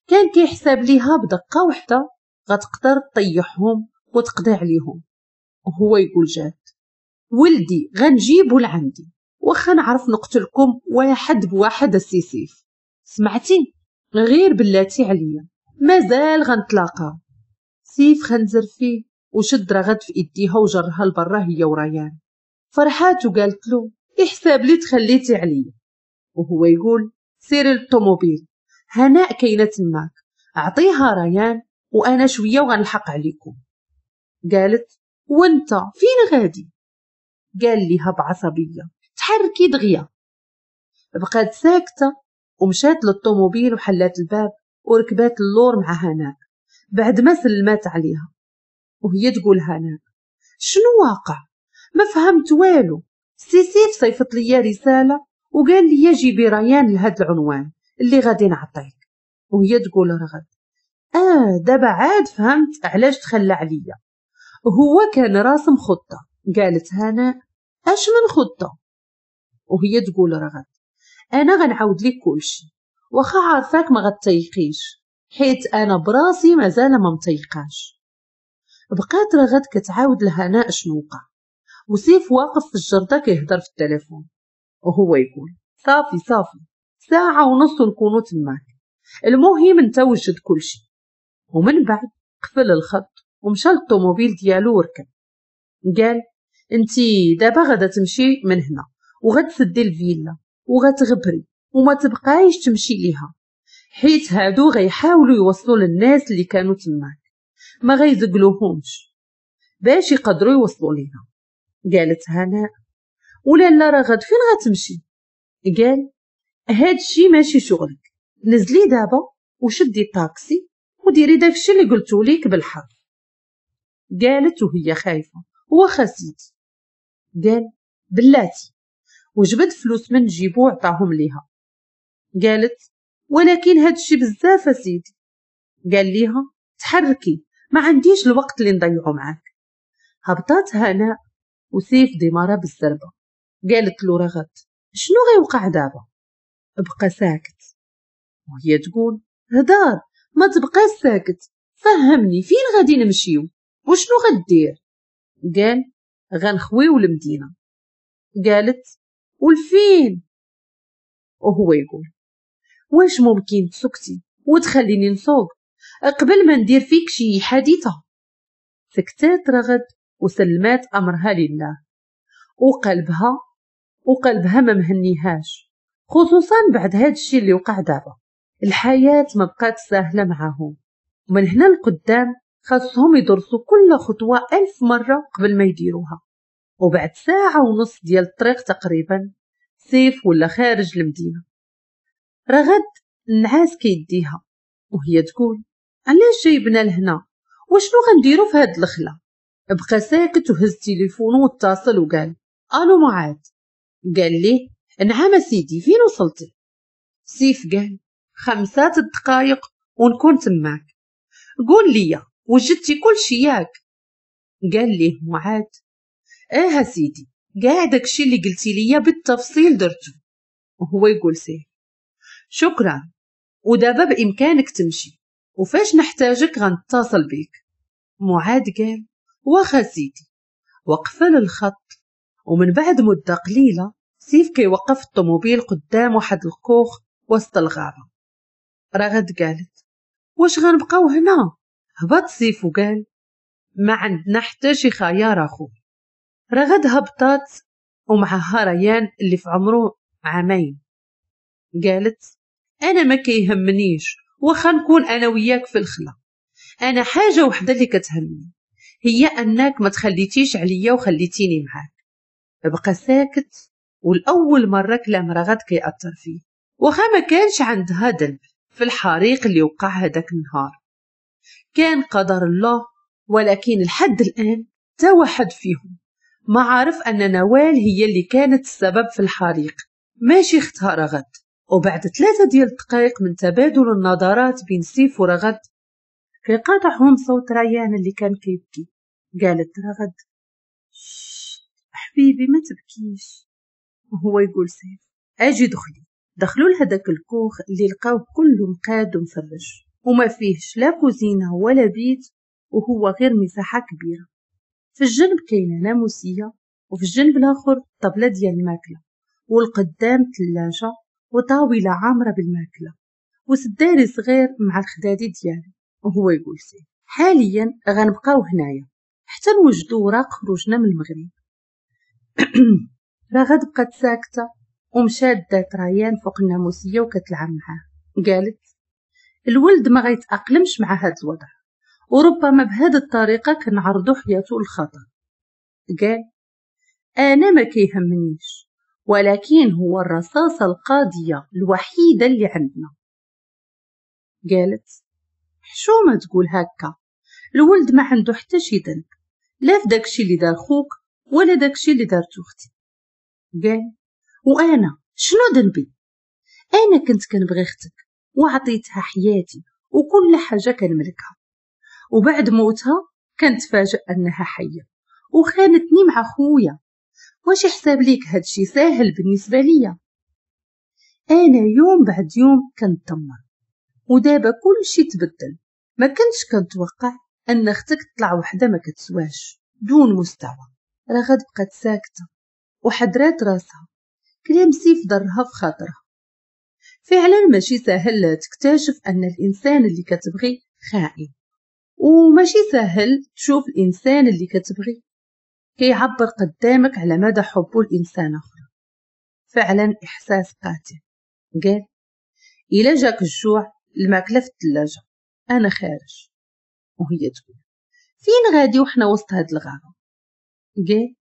[SPEAKER 1] كان كيحسب ليها بدقة وحده غتقدر تطيحهم وتقضي عليهم، وهو يقول جاد ولدي غنجيبو لعندي واخا نعرف نقتلكم واحد بواحد السي سيف، سمعتي؟ غير بلاتي عليا مازال غنتلاقاو. سيف خنزر فيه وشد رغد في ايديها وجرها لبرا هي وريان. فرحات وقالت له احساب لي تخليتي عليا، وهو يقول سيري للطوموبيل هناء كاينه تماك، اعطيها ريان وانا شوية وغنلحق عليكم. قالت وانت فين غادي؟ قال ليها بعصبيه تحركي دغيا. بقات ساكته ومشات للطوموبيل وحلات الباب وركبات اللور مع هناء بعد ما سلمات عليها، وهي تقول هناء شنو واقع؟ ما فهمت والو، سي سيف صيفط ليا رسالة وقال لي جيبي ريان لهاد العنوان اللي غادي نعطيك. وهي تقول رغد اه دابا عاد فهمت علاش تخلى عليا، هو كان راسم خطه. قالت هناء اش من خطه؟ وهي تقول رغد انا غنعاود لك كلشي واخا عارفاك ما غتيقيش، حيت انا براسي مازال ما متيقاش. بقات رغد كتعاود لهناء شنو وقع، وسيف واقف في الجردة كيهضر في التليفون وهو يقول صافي صافي ساعة ونص نكونو تماك، المهم انت وجد كلشي. ومن بعد قفل الخط ومشى للطوموبيل ديالو وركب. قال انتي دابا غادا تمشي من هنا وغتسدي الفيلا وغتغبري وما تبقايش تمشي ليها، حيت هادو غيحاولوا يوصلوا للناس اللي كانوا تماك، ما غيزقلوهمش باش يقدروا يوصلوا لينا. قالت هناء ولا لا رغد فين غتمشي؟ قال هادشي ماشي شغلك، نزلي دابا وشدي الطاكسي وديري داكشي اللي قلتو ليك بالحرف. قالت وهي خايفة واخا سيدي. قال بلاتي، وجبد فلوس من جيبو وعطاهم ليها. قالت ولكن هادشي بزاف سيدي. قال ليها تحركي ما عنديش الوقت اللي نضيعو معاك. هبطات هناء وسيف ديمارا بالزربه. قالت له رغد شنو غيوقع دابا؟ بقى ساكت وهي تقول هدار ما تبقاش ساكت، فهمني فين غادي نمشيو وشنو غدير؟ قال غنخويو المدينة. قالت والفين؟ وهو يقول واش ممكن تسكتي وتخليني نصوب قبل ما ندير فيك شي حادثه؟ سكتات رغد وسلمات امرها لله، وقلبها وقلبها ما مهنيهاش، خصوصا بعد هاد الشيء اللي وقع دابا. الحياة ما بقات سهلة معاهم، ومن هنا لقدام خاصهم يدرسوا كل خطوة ألف مرة قبل ما يديروها. وبعد ساعة ونص ديال الطريق تقريبا سيف ولا خارج المدينة. رغد النعاس كيديها وهي تقول علاش جايبنا لهنا وشنو غنديرو في هاد الخلا؟ بقى ساكت وهز تليفونه واتصل وقال الو معاذ. قال ليه نعم سيدي فين وصلتي؟ سيف قال خمسة الدقايق ونكون تماك، قول لي وجدتي كل شي ياك؟ قال ليه معاذ اه سيدي كاع داكشي اللي قلتي ليا بالتفصيل درتو. وهو يقول سيف شكرا، ودابا بامكانك تمشي وفاش نحتاجك غنتصل بيك. معاذ قال واخا سيدي، وقفل الخط. ومن بعد مده قليله سيف كيوقف الطوموبيل قدام واحد الكوخ وسط الغابة. رغد قالت واش غنبقاو هنا؟ هبط سيف وقال ما عندنا حتى شي خيار اخو. رغد هبطات ومعها ريان اللي في عمره عامين. قالت انا ما كيهمنيش واخا نكون انا وياك في الخلا، انا حاجة وحده اللي كتهمني هي انك ما تخليتيش عليا وخليتيني معاك. بقى ساكت، والاول مرة كلام رغد كيأثر فيه، واخا ما كانش عندها ذنب في الحريق اللي وقع هذاك النهار، كان قدر الله، ولكن لحد الان تا واحد فيهم ما عارف ان نوال هي اللي كانت السبب في الحريق، ماشي اختها رغد. وبعد ثلاثة ديال الدقائق من تبادل النظرات بين سيف ورغد كيقاطعهم صوت ريان اللي كان كيبكي. قالت رغد حبيبي ما تبكيش، وهو يقول سيف اجي دخلي. دخلوا لهداك الكوخ اللي لقاوه كله مقاد ومفرش وما فيهش لا كوزينه ولا بيت، وهو غير مساحة كبيرة. في الجنب كاينه ناموسيه، وفي الجنب الاخر طبله ديال الماكلة، والقدام ثلاجه وطاوله عامرة بالماكله، وسداري صغير مع الخدادي ديالو. وهو يقول سيف حاليا غنبقاو هنايا حتى نوجدوا وراق خروجنا من المغرب. رغد بقات ساكته ومشات دات ريان فوق الناموسيه وكتلعب معاه. قالت الولد ما غيتاقلمش مع هذا الوضع، وربما بهذه الطريقة كنعرضوا حياته للخطر. قال انا ما كيهمنيش، ولكن هو الرصاصة القاضية الوحيدة اللي عندنا. قالت حشومه تقول هكا، الولد ما عنده حتى شي ذنب، لا في داكشي اللي دار خوك ولا داكشي اللي دارتو اختي. قال وانا شنو ذنبي؟ انا كنت كنبغي اختك وعطيتها حياتي وكل حاجة كنملكها، وبعد موتها كنتفاجئ انها حيه وخانتني مع خويا. واش حساب ليك هادشي ساهل بالنسبة ليا؟ انا يوم بعد يوم كنتدمر، ودابا كلشي تبدل. ما كنتش كنتوقع ان اختك تطلع وحده ما كتسواش دون مستوى. رغد بقات ساكته وحدرات راسها، كلام سيف ضرها في خاطرها. فعلا ماشي سهل تكتشف ان الانسان اللي كتبغي خائن، وماشي سهل تشوف الانسان اللي كتبغي كيعبر قدامك على مدى حبه لانسان اخر. فعلا احساس قاتل. قال الا جاك الجوع الماكلة في الثلاجة، انا خارج. وهي تقول فين غادي وحنا وسط هاد الغابة؟ قال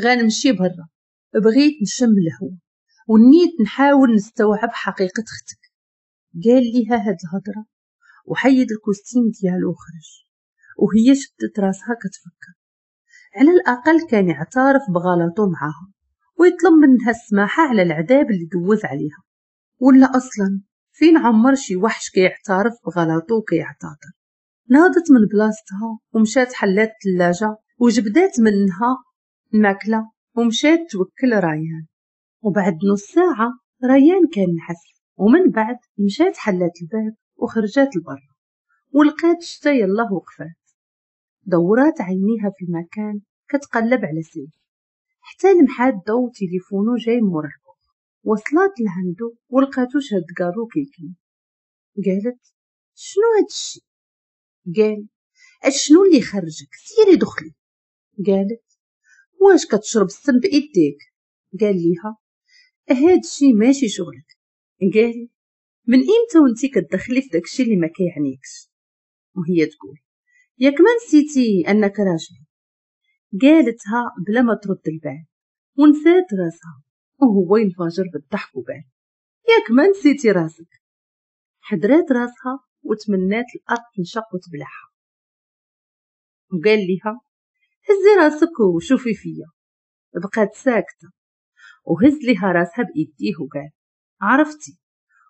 [SPEAKER 1] غنمشي برا، بغيت نشم الهواء ونيت نحاول نستوعب حقيقة اختك. قال ليها هاد الهضرة وحيد ال costume ديالو وخرج، وهي شدت راسها كتفكر. على الاقل كان يعترف بغلطه معاها ويطلب منها السماحة على العذاب اللي دوز عليها، ولا اصلا فين عمر شي وحش كيعترف بغلطه وكيعتذر. ناضت من بلاصتها ومشات حلات الثلاجة وجبدات منها الماكلة ومشات توكل ريان. وبعد نص ساعة ريان كان نحس، ومن بعد مشات حلات الباب وخرجات لبرا ولقات الشتا يلاه وقفات. دورات عينيها في المكان كتقلب على سيف حتى لمحات ضو تليفونو جاي مورا الكوخ. وصلت لعندو ولقاتو شاد كارو كيكمي. قالت شنو هادشي؟ قال اشنو اللي خرجك؟ سيري دخلي. قالت واش كتشرب السم بايديك؟ قال ليها هادشي ماشي شغلك. قال من امتى وانتي كتدخلي في داكشي اللي ما كيعنيكش؟ وهي تقول ياك ما نسيتي انك راجل. قالتها بلا ما ترد البال ونسات راسها، وهو ينفجر بالضحك وقال ياك ما نسيتي راسك. حدرات راسها وتمنات الارض تنشق وتبلعها. وقال لها هزي راسك وشوفي فيا. بقات ساكته وهز لها راسها بايديه وقال عرفتي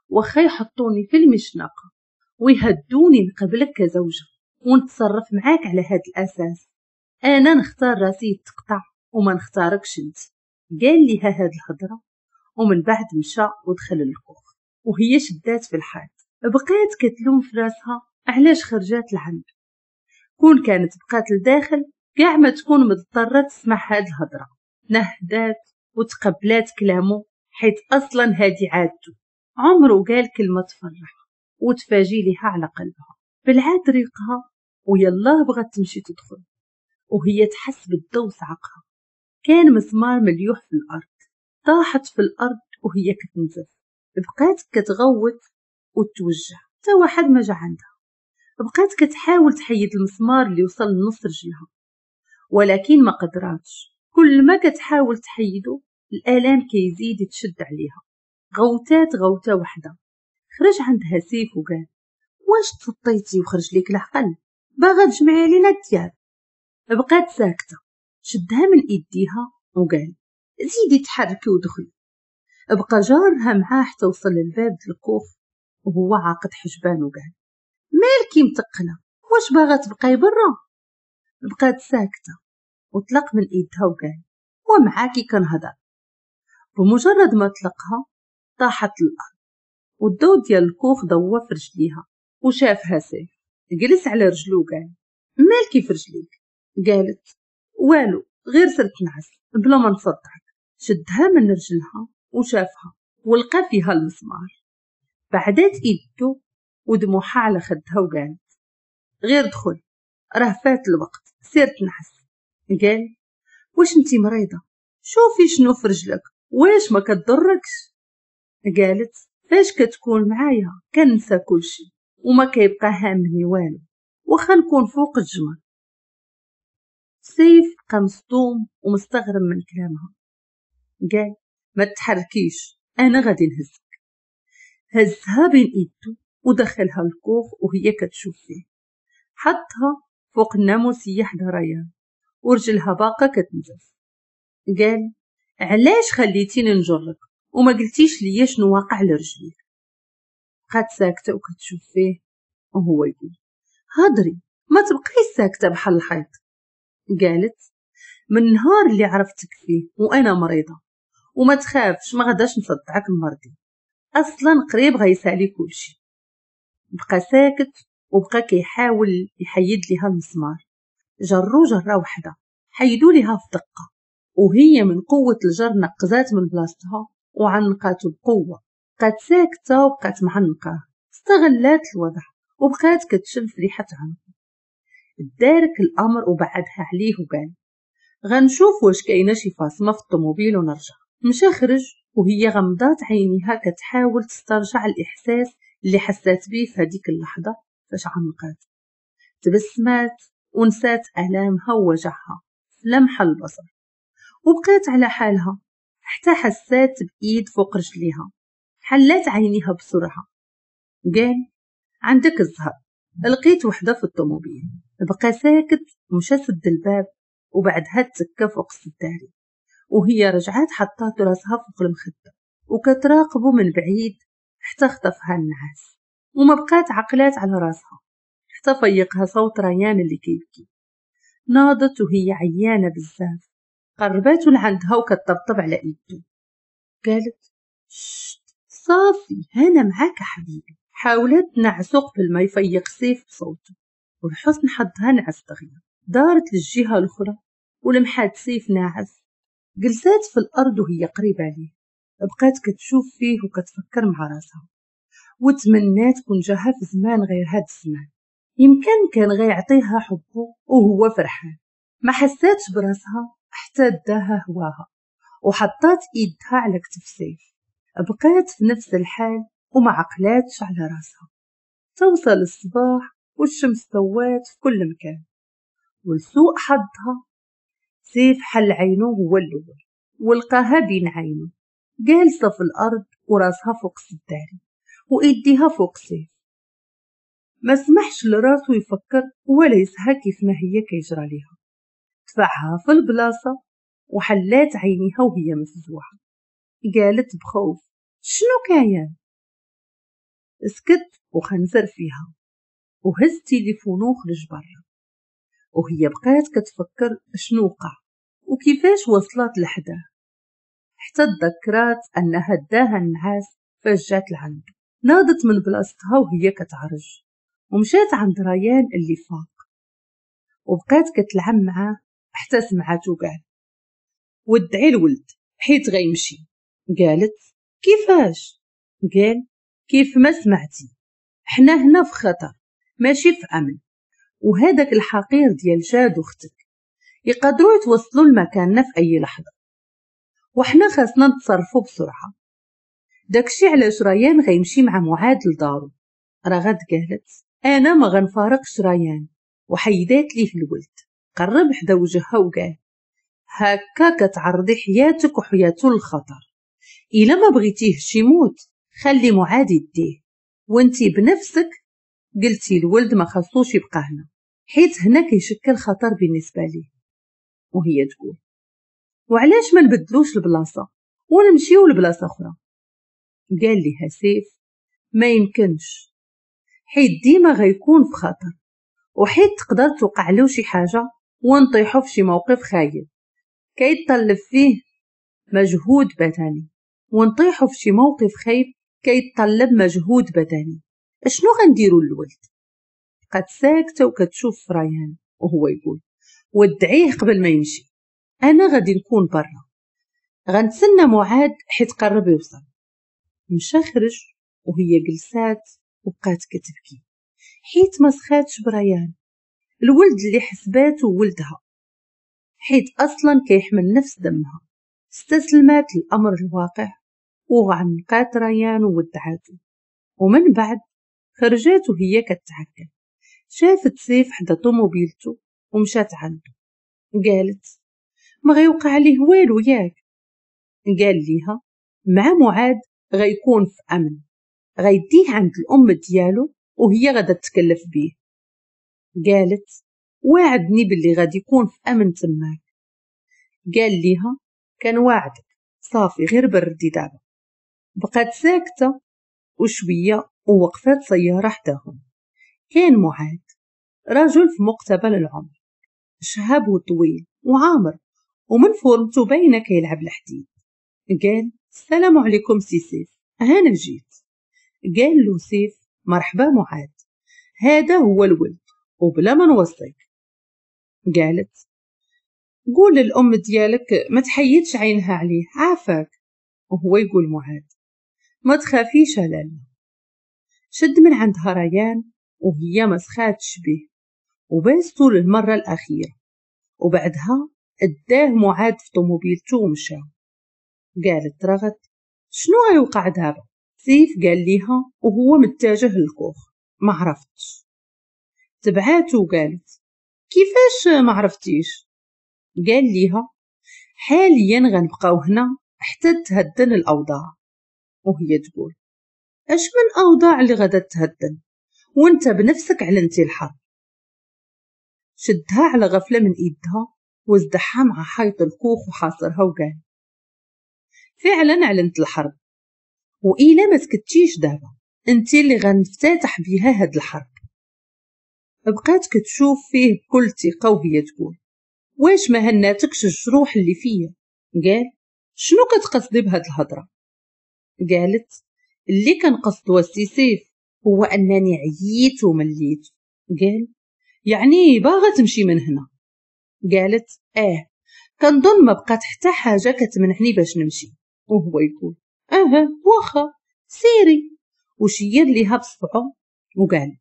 [SPEAKER 1] واخا يحطوني في المشنقه ويهدوني نقبلك كزوجة ونتصرف معاك على هذا الاساس، انا نختار راسي يتقطع وما نختاركش انت. قال لها هاد الهضرة ومن بعد مشى ودخل الكوخ، وهي شدات في الحيط. بقات كتلوم في راسها علاش خرجات لعند، كون كانت بقات لداخل كاع ما تكون مضطرة تسمع هاد الهضرة. نهدات وتقبلات كلامه حيت اصلا هادي عادته، عمره قال كلمة تفرح وتفاجي لها على قلبها. بلعات ريقها ويلاه بغات تمشي تدخل، وهي تحس بالضو صعقها. كان مسمار مليوح في الارض. طاحت في الارض وهي كتنزف، بقات كتغوت وتوجع، حتى واحد ما جا عندها. بقات كتحاول تحيد المسمار اللي وصل لنص رجلها، ولكن ما قدراتش. كل ما كتحاول تحيدو الالام كيزيد يتشد عليها. غوتات غوته وحده. خرج عندها سيف وقال واش تسطيتي وخرج ليك العقل؟ باغا تجمعي علينا الدياب؟ بقات ساكته. شدها من ايديها وقال زيدي تحركي ودخلي. بقى جارها معاه حتى وصل للباب ديال الكوخ وهو عاقد حجبان وقال مالكي متقله؟ واش باغا تبقاي برا؟ بقات ساكته وطلق من ايدها وقال ومعاكي كنهضر. بمجرد ما طلقها طاحت الارض والضوء ديال الكوخ ضوى في رجليها وشافها سيف. جلس على رجلو وقال مالكي في رجليك؟ قالت والو، غير سرت نعس بلا ما نصدعك. شدها من رجلها وشافها ولقى فيها المسمار. بعدات ايدو ودموعها على خدها وقالت غير دخل، راه فات الوقت، سير تنعس. قال واش انتي مريضه؟ شوفي شنو في رجلك، واش ما كتضركش؟ قالت فاش كتكون معايا كنسى كلشي وما كيبقى هامني والو، واخا نكون فوق الجمر. سيف بقى مصدوم ومستغرب من كلامها. قال ما تحركيش، انا غادي نهزك. هزها بين ايدو ودخلها الكوخ وهي كتشوف فيه. حطها فوق الناموسيه حدا ريان ورجلها باقا كتنزف. قال علاش خليتيني نجرك وما قلتيش ليا شنو واقع لرجليك؟ بقات ساكته وكتشوف فيه وهو يقول هضري، ما تبقيش ساكته بحال الحيط. قالت من النهار اللي عرفتك فيه وانا مريضه، وما تخافش ما غاداش نصدعك المرضي، اصلا قريب غيسالي كلشي. بقى ساكت وبقى كيحاول يحيد ليها المسمار. جرو جره وحده حيدوا ليها في دقه، وهي من قوة الجر نقزات من بلاصتها وعنقاتو بقوة. بقات ساكته وبقات معنقاه، استغلات الوضع وبقات كتشم في ريحه عنقه. دارك الامر وبعدها عليه وقال غنشوف واش كاينه شي فاصمه في الطوموبيل ونرجع. مشى خرج وهي غمضات عينيها كتحاول تسترجع الاحساس اللي حسات بيه في هذيك اللحظة فاش عنقات. تبسمات ونسات الامها ووجعها في لمح البصر، وبقات على حالها حتى حسات بايد فوق رجليها. حلات عينيها بسرعة. قال عندك الزهر، لقيت وحده في الطوموبيل. بقى ساكت ومشى سد الباب وبعدها تسكى فوق السداري، وهي رجعات حطات راسها فوق المخدة وكتراقبه من بعيد حتى خطفها النعاس وما بقات عقلات على راسها حتى فيقها صوت ريان اللي كيبكي. ناضت وهي عيانه بزاف، قرباتو لعندها وكتطبطب على ايدو. قالت شت صافي انا معاك حبيبي. حاولت تنعسو قبل ما يفيق سيف بصوته، والحسن حظها نعس دغيا. دارت للجهة الاخرى ولمحات سيف ناعس. جلسات في الارض وهي قريبه ليه، بقات كتشوف فيه وكتفكر مع راسها وتمنات كون جاها في زمان غير هاد الزمان، يمكن كان غيعطيها حبه وهو فرحان. ما حساتش براسها حتى داها هواها وحطات ايدها على كتف سيف. بقات في نفس الحال وما عقلاتش على راسها. توصل الصباح والشمس ضوات في كل مكان، ولسوء حظها سيف حل عينه هو الاول ولقاها بين عينه جالسة في الارض وراسها فوق السداري وايديها فوق سيف. ما سمحش لراسو يفكر ولا يسهى كيف ما هي كيجرى ليها. دفعها في البلاصة وحلات عينيها وهي مفزوعه. قالت بخوف شنو كاين؟ سكت وخنزر فيها وهز تليفونو وخرج برا، وهي بقات كتفكر شنو وقع وكيفاش وصلت لحداه، حتى تذكرات انها داها النعاس فاش جات لعنده. ناضت من بلاصتها وهي كتعرج ومشات عند ريان اللي فاق، وبقات كتلعب معاه حتى سمعاتو قال ودعي الولد حيت غيمشي. قالت كيفاش؟ قال كيف ما سمعتي، حنا هنا في خطر ماشي في امن، وهذاك الحقير ديال جاد اختك يقدروا يتوصلوا لمكاننا في اي لحظة، وحنا خاصنا نتصرفوا بسرعة. داكشي علاش ريان غيمشي مع معاذ لدارو. رغد قالت انا ما غنفارقش ريان، وحيدات ليه الولد. قرب حدا وجهها وقال هكا كتعرضي حياتك وحياته للخطر، الا ما بغيتيهش يموت خلي معاذ يديه، وانتي بنفسك قلتي الولد ما خصوش يبقى هنا حيت هنا كيشكل خطر بالنسبة ليه. وهي تقول وعلاش ما نبدلوش البلاصة ونمشيو لبلاصه اخرى؟ قال لها سيف ما يمكنش، حيت ديما غيكون في خطر، وحيت تقدر توقع له شي حاجة ونطيحو في شي موقف خايب كيتطلب فيه مجهود بدني، ونطيحو في شي موقف خايب كيتطلب مجهود بدني. اشنو غنديرو للولد؟ بقات ساكته وكتشوف في ريان وهو يقول ودعيه قبل ما يمشي، انا غادي نكون برا غنتسنى معاذ حيت قرب يوصل. مشى خرج وهي جلسات وبقات كتبكي حيت ما سخاتش بريان، الولد اللي حسباته ولدها، حيت اصلا كيحمل نفس دمها. استسلمات للامر الواقع وعنقات ريان وودعاتو. ومن بعد خرجات وهي كتعكل، شافت سيف حدا طوموبيلتو ومشات عنده. قالت ما غيوقع عليه والو ياك؟ قال ليها مع معاذ غيكون في امن، غيديه عند الام ديالو وهي غادا تتكلف بيه. قالت واعدني باللي غادي يكون في امن تماك. قال ليها كان واعدك، صافي غير بردي دابا. بقات ساكته وشوية ووقفات سيارة حداهم. كان معاذ رجل في مقتبل العمر، شهاب وطويل وعامر، ومن فورمته باينة كيلعب الحديد. قال السلام عليكم سي سيف، هانا جيت. قال له سيف مرحبا معاذ، هذا هو الولد وبلا ما نوصيك. قالت قول للأم ديالك ما تحيدش عينها عليه عافاك. وهو يقول معاذ ما تخافيش لالا. شد من عندها ريان وهي ما سخاتش به وباستو للمرة الأخيرة، وبعدها اداه معاذ في طوموبيلتو ومشى. قالت رغد شنو غيوقع دابا؟ سيف قال ليها وهو متجه للكوخ ما عرفتش. تبعاتو وقالت كيفاش ما عرفتيش؟ قال ليها حاليا غنبقاو هنا حتى تهدن الاوضاع. وهي تقول اش من اوضاع اللي غادا تهدن وانت بنفسك علنتي الحرب؟ شدها على غفلة من ايدها وازدحها مع حيط الكوخ وحاصرها وقال فعلا علنت الحرب، وإلا ما سكتيش دابا انت اللي غنفتتح بيها هاد الحرب. بقات كتشوف فيه بكل ثقة وهي تقول واش ما هناتكش الجروح اللي فيا؟ قال شنو كتقصدي بهاد الهضرة؟ قالت اللي كنقصدو السي سيف هو انني عييت ومليت. قال يعني باغا تمشي من هنا؟ قالت اه كنظن ما بقات حتى حاجة كتمنعني باش نمشي. وهو يقول اه واخا سيري، وشير ليها بصبعه وقال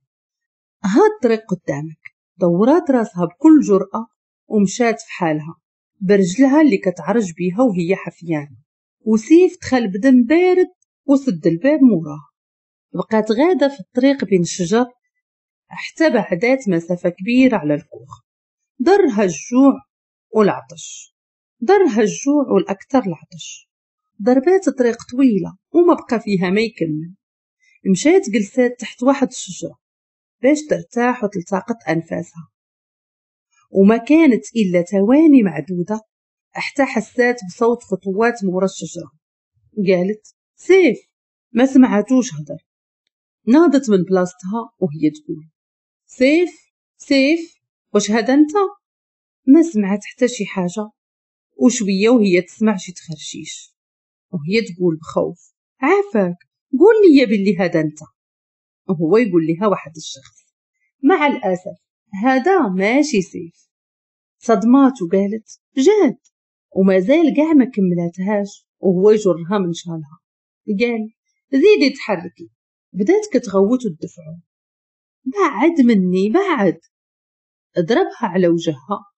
[SPEAKER 1] ها الطريق قدامك. دورات راسها بكل جرأة ومشات في حالها برجلها اللي كتعرج بيها وهي حفيانة. وسيف دخل بدم بارد وسد الباب موراه. بقات غادة في الطريق بين الشجر حتى بعدات مسافة كبيرة على الكوخ. ضرها الجوع والعطش، ضرها الجوع والأكثر العطش. ضربات طريق طويلة وما بقى فيها ما يكمل. مشات جلسات تحت واحد الشجرة باش ترتاح وتلتقط أنفاسها، وما كانت إلا ثواني معدودة حتى حسات بصوت خطوات مورا الشجرة. قالت سيف، ما سمعتوش هدر. ناضت من بلاصتها وهي تقول سيف سيف واش هذا انت؟ ما سمعت حتى شي حاجة، وشوية وهي تسمع شي تخرشيش وهي تقول بخوف عافاك قول لي باللي هذا انت. وهو يقول لها واحد الشخص مع الأسف هذا ماشي سيف. صدمات وقالت جاد، وما زال كاع ما كملاتهاش وهو يجرها من شالها. قال زيدي تحركي. بدات كتغوت وتدفعو بعد مني بعد. ضربها على وجهها